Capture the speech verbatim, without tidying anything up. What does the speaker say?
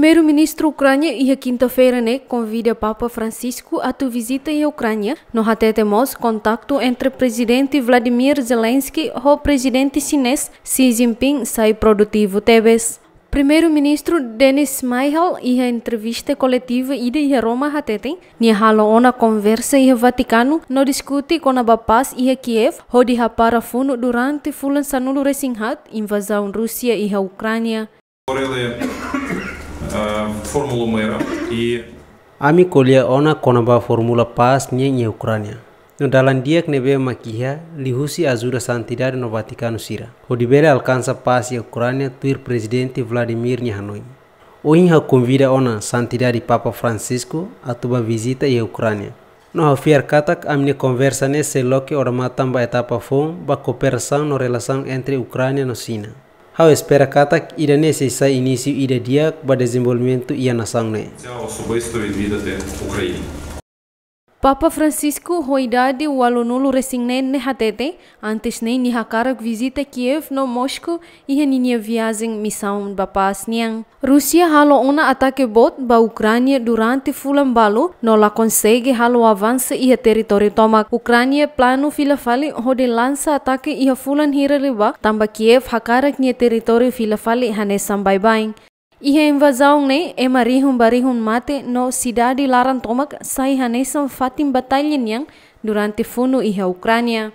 Primeiru-Ministru Ukránia iha kinta-feira ne'e konvida Papa Francisco atu vizita iha Ukránia, no hatete mós kontaktu entre Prezidente Vladimir Zelensky ho Prezidente Xinés Xi Jinping sai produtivu tebes. Primeiru-Ministru Denys Shmyhal iha entrevista koletiva ida iha Roma hatete, nia halo ona konversa iha Vatikanu no diskute kona-ba pás iha Kiev, hodi hapara funu durante fulan sanulu-resin-haat invazaun Rúsia iha Ukránia. Говорили, е, формулу мира и Ami ko'alia ona kona-ba fórmula pás nian iha Ukránia. No dalan di'ak ne'ebé mak iha liuhusi ajuda Santidade no Vatikanu sira, hodi bele alkansa pás iha Ukránia tuir Prezidente Vladimir nia hanoin. Ohin ha'u konvida ona Santidade Papa Francisco atu bá vizita iha Ukránia. No ha'u fiar katak ami-nia konversa ne'e sei loke odamatan ba etapa foun ba kooperasaun no relasaun entre Ukránia no Xina. Ha'u espera katak ida-ne'e sei sai inísiu ida di'ak ba dezenvolvimentu iha nasaun ne'e. Papa Francisco ho idade ualunulu-resin-neen ne'e hatete, antes ne'e nia hakarak vizita Kiev no Moscou iha ninia viajen misaun ba pás nian. Rúsia halo ona atake boot ba Ukránia durante fulan balu no la konsege halo avansa iha territóriu tomak. Ukránia planu fila fali hodi lansa atake iha fulan hira liubá, tanba Kiev hakarak nia territóriu fila fali hanesan baibain. Iha invazaun ne'e, ema rihun ba rihun mate no sidade laran tomak sai hanesan fatin batalla nian durante funu iha Ukránia.